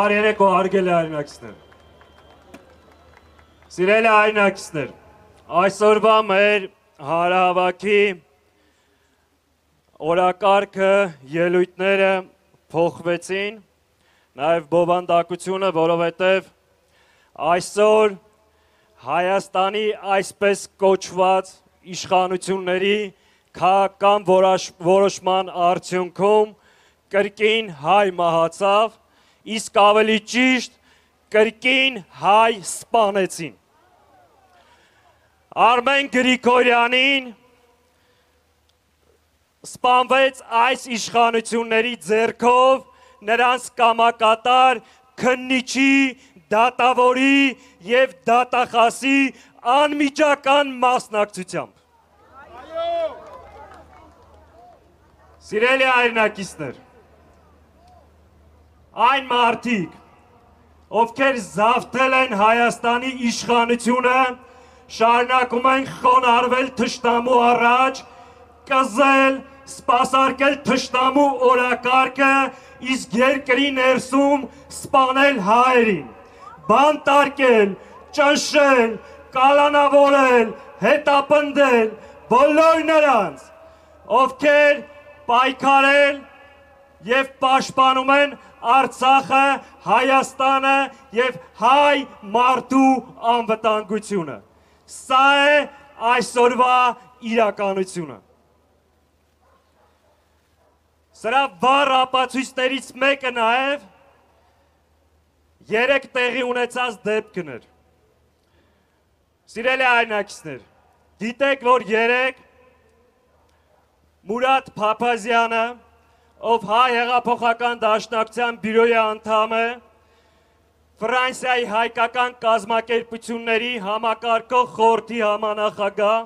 Բարերեկո հարգելի հայրենակիցներ։ Սիրելի հայրենակիցներ, այսօրվա մեր հանրահավաքի օրակարգը, ելույթները փոխվեցին, նաև բովանդակությունը, որովհետև այսօր Հայաստանի այսպես կոչված իշխանությունների քաղաքական որոշման արդյունքում կրկին հայ մահացավ, իսկ ավելի ճիշտ կրկին հայ սպանեցին։ Արմեն Գրիգորյանին սպանվեց այս իշխանությունների ձեռքով նրանց կամակատար քննիչի, դատավորի և դատախասի անմիջական մասնակցությամբ։ Սիրելի հայրենակիցներ, այն մարդիկ, ովքեր զավթել են Հայաստանի իշխանությունը, շարունակում են խոնարհվել թշնամու առաջ, կզել, սպասարկել թշնամու օրակարգը, իսկ երկրի ներսում սպանել հայերին, բանտարկել, ճնշել, կալանավորել, հետապնդել բոլոր նրանց, ովքեր պայքարել և պաշտպանում են Արցախը, Հայաստանը և հայ մարդու անվտանգությունը։ Սա է այսօրվա իրականությունը։ Սրա վառ ապացույցներից մեկը նաև երեկ տեղի ունեցած դեպքն էր։ Սիրելի հայրենակիցներ, գիտեք, որ երեկ Մուրադ Փափազյանը, ով հայ հեղափոխական դաշնակցության բյուրոյի անդամ է, Ֆրանսիայի հայկական կազմակերպությունների համակարգող խորհրդի համանախագահ,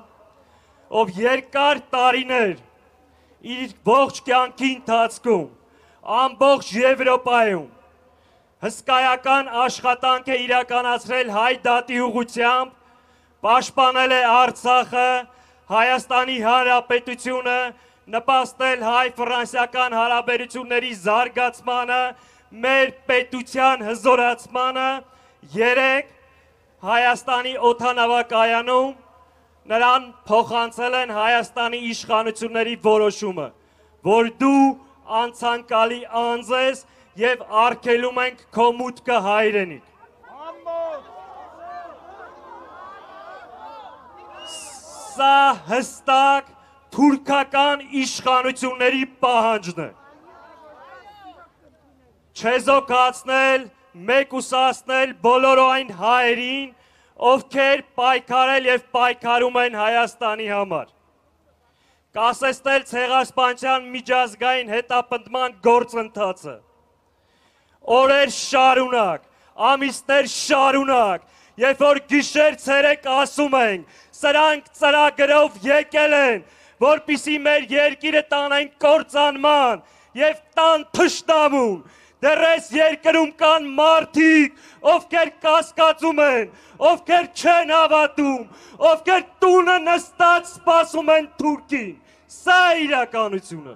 ով երկար տարիներ իր ողջ կյանքի ընթացքում ամբողջ Եվրոպայում հսկայական աշխատանք է իրականացրել հայ դատի ուղղությամբ, պաշտպանել է Արցախը, Հայաստանի Հանրապետությունը, նպաստել հայ-ֆրանսիական հարաբերությունների զարգացմանը, մեր պետության հզորացմանը, երեկ Հայաստանի օդանավակայանում նրան փոխանցել են Հայաստանի իշխանությունների որոշումը, որ դու անցանկալի անձ ես և արգելում ենք քո մուտքը հայրենիք։ Սա հստակ թուրքական իշխանությունների պահանջն է։ Չեզոքացնել, մեկուսացնել բոլոր այն հայերին, ովքեր պայքարել և պայքարում են Հայաստանի համար։ Կասեցնել ցեղասպանության միջազգային հետապնդման գործընթացը։ Օրեր շարունակ, ամիսներ շարունակ, երբ որ գիշեր ցերեկ ասում ենք, սրանք ծրագրով եկել են, որպիսի մեր երկիրը տանեն կործանման և տան թշնամուն, դեռ այս երկրում կան մարդիկ, ովքեր կասկածում են, ովքեր չեն հավատում, ովքեր տունը նստած սպասում են թուրքին, սա է իրականությունը։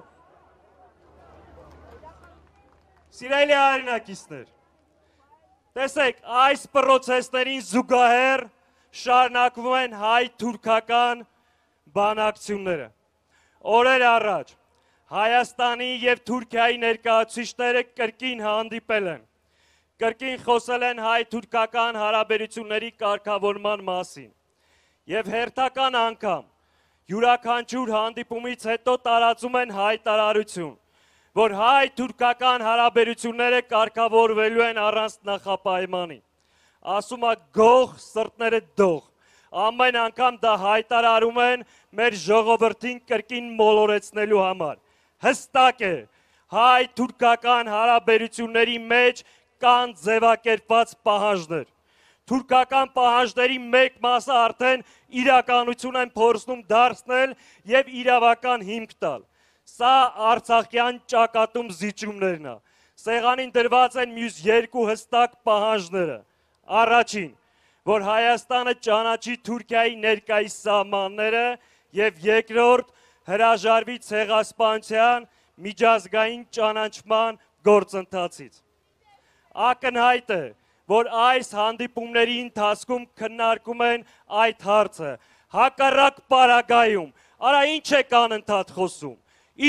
Սիրելի հայրենակիցներ, տեսեք, այս պրոցեսներին զուգահեռ շարունակվում են հայ-թուրքական բանակցությունները։ Օրեր առաջ Հայաստանի և Թուրքիայի ներկայացուցիչները կրկին հանդիպել են, կրկին խոսել են հայ-թուրքական հարաբերությունների կարգավորման մասին և հերթական անգամ յուրաքանչյուր հանդիպումից հետո տարածում են հայտարարություն, որ հայ-թուրքական հարաբերությունները կարգավորվելու են առանց նախապայմանի։ Ասում է գող, սրտները դող, ամեն անգամ դա հայտարարում են մեր ժողովրդին կրկին մոլորեցնելու համար։ Հստակ է, հայ-թուրքական հարաբերությունների մեջ կան ձևակերպված պահանջներ։ Թուրքական պահանջների մեկ մասը արդեն իրականություն են փորձում դարձնել և իրավական հիմք տալ։ Սա արցախյան ճակատում զիջումներն է։ Սեղանին դրված են մյուս երկու հստակ պահանջները։ Առաջին, որ Հայաստանը ճանաչի Թուրքիայի ներկայիս սահմանները և երկրորդ, հրաժարվի ցեղասպանության միջազգային ճանաչման գործընթացից։ ակնհայտ է, որ այս հանդիպումների ընթացքում քննարկում են այդ հարցը։ Հակառակ պարագայում, արա ինչ եք անընդհատ խոսում,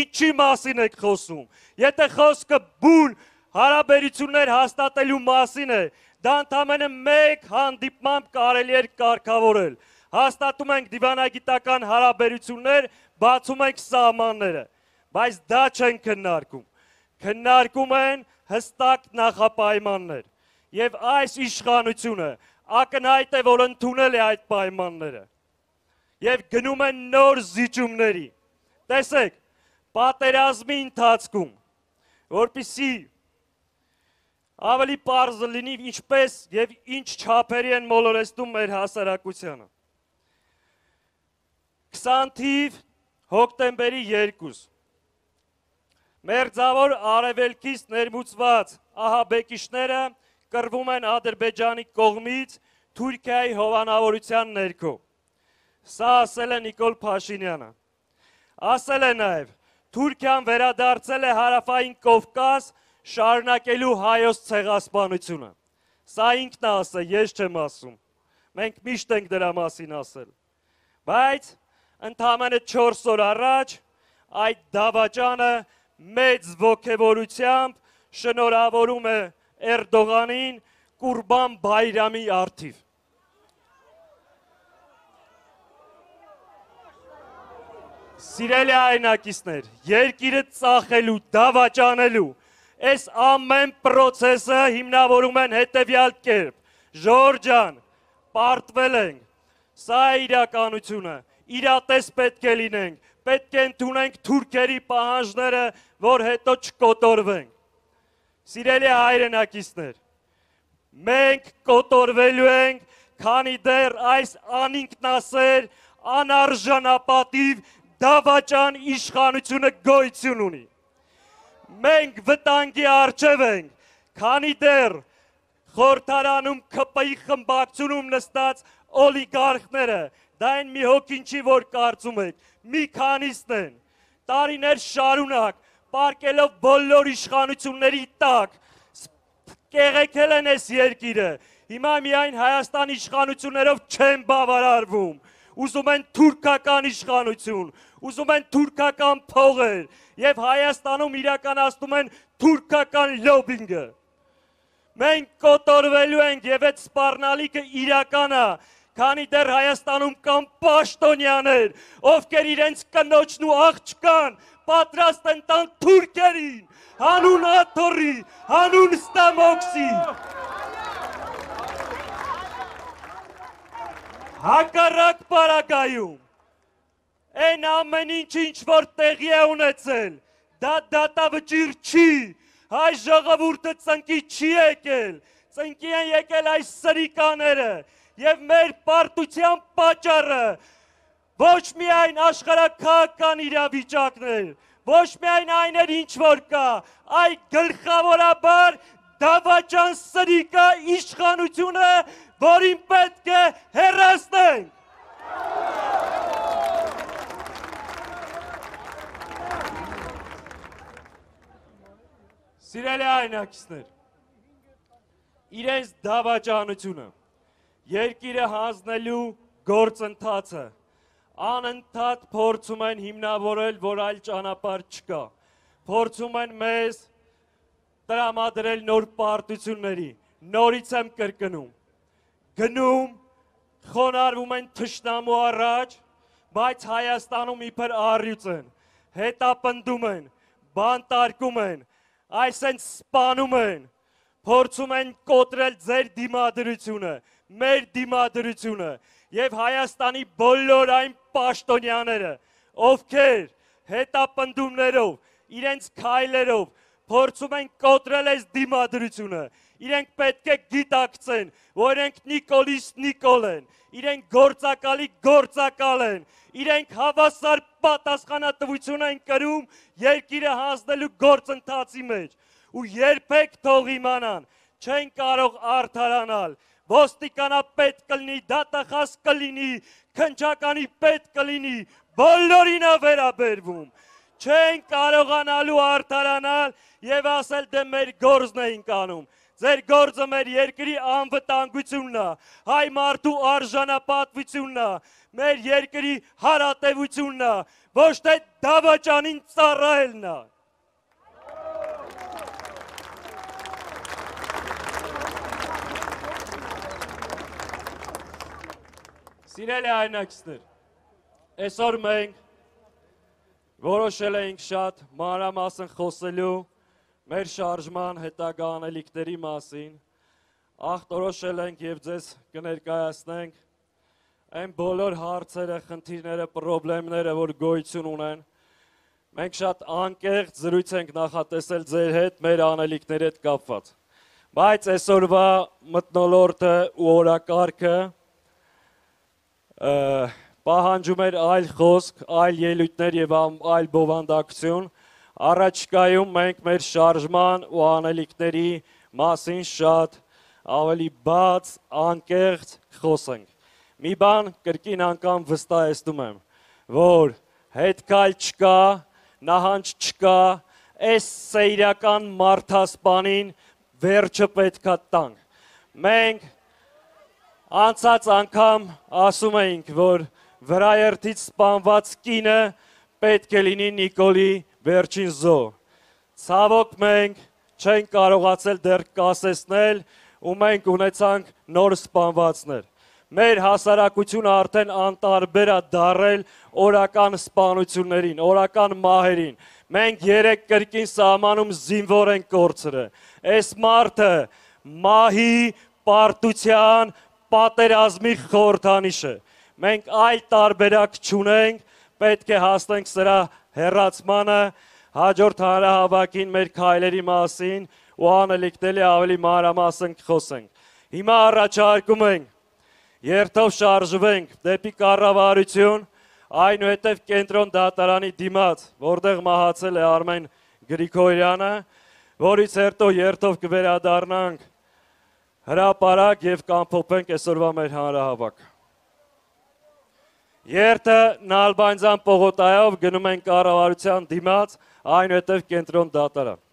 ինչի մասին եք խոսում, եթե խոսքը բուն հարաբերություններ հաստատելու մասին է, դա ընդամենը մեկ հանդիպմամբ կարելի էր կարգավորել։ Հաստատում ենք դիվանագիտական հարաբերություններ, բացում ենք սահմանները, բայց դա չեն քննարկում։ Քննարկում են հստակ նախապայմաններ։ Եվ այս իշխանությունը ակնհայտ է, որ ընդունել է այդ պայմանները։ Եվ գնում են նոր զիջումների։ Տեսեք, պատերազմի ընթացքում, որպեսզի ավելի պարզ լինի ինչպես եւ ինչ չափերի են մոլորեցնում մեր հասարակությանը։ 20 թիվ հոկտեմբերի 2 Մերձավոր արևելքից ներմուծված ահաբեկիչները կռվում են Ադրբեջանի կողմից Թուրքիայի հովանավորության ներքո։ Սա ասել է Նիկոլ Փաշինյանը։ Ասել է նաև, Թուրքիան վերադարձել է հարավային Կովկաս շարունակելու հայոց ցեղասպանությունը։ Սա ինքն է ասել, ես չեմ ասում։ Մենք միշտ ենք դրա մասին ասել։ Բայց ընդամենը 4 օր առաջ այդ դավաճանը մեծ ոգևորությամբ շնորհավորում է Էրդողանին Կուրբան Բայրամի առթիվ։ Սիրելի հայրենակիցներ, երկիրը ծախելու, դավաճանելու, այս ամեն պրոցեսը հիմնավորում են հետևյալ կերպ։ Ժորժ ջան, պարտվել ենք, սա է իրականությունը, իրատես պետք է լինենք, պետք է ընդունենք թուրքերի պահանջները, որ հետո չկոտորվենք։ Սիրելի հայրենակիցներ, մենք կոտորվելու ենք, քանի դեռ այս անինքնասեր, անարժանապատիվ դավաճան իշխանությունը գոյություն ունի։ Մենք վտանգի առջև ենք, քանի դեռ խորհրդարանում ԿՊ-ի խմբակցությունում նստած օլիգարխները, դա են մի հոգին չի, որ կարծում եք, մի քանիսն են, տարիներ շարունակ, պարկելով բոլոր իշխանությունների տակ, կեղեքել են այս երկիրը, հիմա միայն Հայաստան իշխանություններով չեն բավարարվում, ուզում են թուրքական իշխանություն, ուզում են թուրքական փողեր եւ Հայաստանում իրականացնում են թուրքական լոբինգը։ Մենք կոտորվելու ենք եւ այդ սպառնալիքը իրական է, քանի դեռ Հայաստանում կան պաշտոնյաներ, ովքեր իրենց կնոջն ու աղջկան պատրաստ են տան թուրքերին, հանուն աթոռի, հանուն ստամոքսի։ Հակառակ պարագայում, այն ամեն ինչ որ տեղի է ունեցել, դա դատավճիռ չի, հայ ժողովուրդը ծնկի չի եկել, ծնկի են եկել այս սրիկաները և մեր պարտության պատճառը ոչ միայն աշխարհաքաղաքական իրավիճակներ, ոչ միայն այն էր ինչ որ կա, այ գլխավորաբար դավաճան սրիկա իշխանությունը, որին պետք է հեռացնենք։ Սիրելի հայրենակիցներ, իրենց դավաճանությունը, երկիրը հանձնելու գործընթացը, անընդհատ փորձում են հիմնավորել, որ այլ ճանապարհ չկա, փորձում են մեզ տրամադրել նոր պարտությունների, նորից եմ կրկնում, գնում, խոնարհվում են թշնամու առաջ, բայց Հայաստանում իբր առյուծ են, հետապնդում են, բանտարկում են, այսենց սպանում են, փորձում են կոտրել ձեր դիմադրությունը, մեր դիմադրությունը եւ Հայաստանի բոլոր այն պաշտոնյաները, ովքեր հետապնդումներով, իրենց քայլերով փորձում են կոտրել այս դիմադրությունը, իրենք պետք է գիտակցեն, որ իրենք Նիկոլից Նիկոլ են, իրենք գործակալի գործակալ են, իրենք հավասար պատասխանատվություն են կրում երկիրը հանձնելու գործընթացի մեջ ու երբեք թող իմանան, չեն կարող արդարանալ, ոստիկանապետ կլինի, դատախազ կլինի, քննչականի պետ կլինի, բոլորին է վերաբերվում, չեն կարողանալու արդարանալ եւ ասել դե մեր գործն էինք անում, ձեր գործը մեր երկրի անվտանգությունն է, հայ մարդու արժանապատվությունն է, մեր երկրի հարատևությունն է, ոչ թե դավաճանին ծառայելն է։ Սիրելի հայրենակիցներ, այսօր մենք որոշել ենք շատ մանրամասն խոսելու մեր շարժման հետագա անելիքների մասին, ախտորոշել ենք և ձեզ կներկայացնենք այն բոլոր հարցերը, խնդիրները, պրոբլեմները, որ գոյություն ունեն։ Մենք շատ անկեղծ զրույց ենք նախատեսել ձեր հետ մեր անելիքների հետ կապված։ Բայց այսօրվա մթնոլորտը ու օրակարգը պահանջում էր այլ խոսք, այլ ելույթներ և այլ բովանդակություն, առաջիկայում մենք մեր շարժման ու անելիքների մասին շատ ավելի բաց, անկեղծ խոսենք։ Մի բան կրկին անգամ վստահեցնում եմ, որ հետքայլ չկա, նահանջ չկա, այս սեյրական մարդասպանին վերջը պետքա տանք։ Մենք անցած անգամ ասում էինք, որ վրաերթից սպանված կինը պետք է լինի Նիկոլի վերջին զոհ։ Ցավոք մենք չենք կարողացել դեռ կասեցնել ու մենք ունեցանք նոր սպանվածներ։ Մեր հասարակությունը արդեն անտարբեր է դարել օրական սպանություններին, օրական մահերին։ Մենք 3 կրկին սահմանում զինվոր ենք կորցրել։ Այս մարդը մահի, պարտության, պատերազմի խորհրդանիշ է։ Մենք այլ տարբերակ չունենք, պետք է հասնենք սրա հեռացմանը, հաջորդ հանրահավաքին մեր քայլերի մասին ու անելիքների ավելի մանրամասն խոսենք։ Հիմա առաջարկում ենք երթով շարժվենք դեպի կառավարություն, այնուհետև կենտրոն դատարանի դիմաց, որտեղ մահացել է Արմեն Գրիգորյանը, որից հետո երթով կվերադառնանք հրապարակ և կամփոփենք այսօրվա մեր հանրահավաքը։ Երթը Նալբանդյան պողոտայով գնում ենք կառավարության դիմաց, այնուհետև կենտրոն դատարան։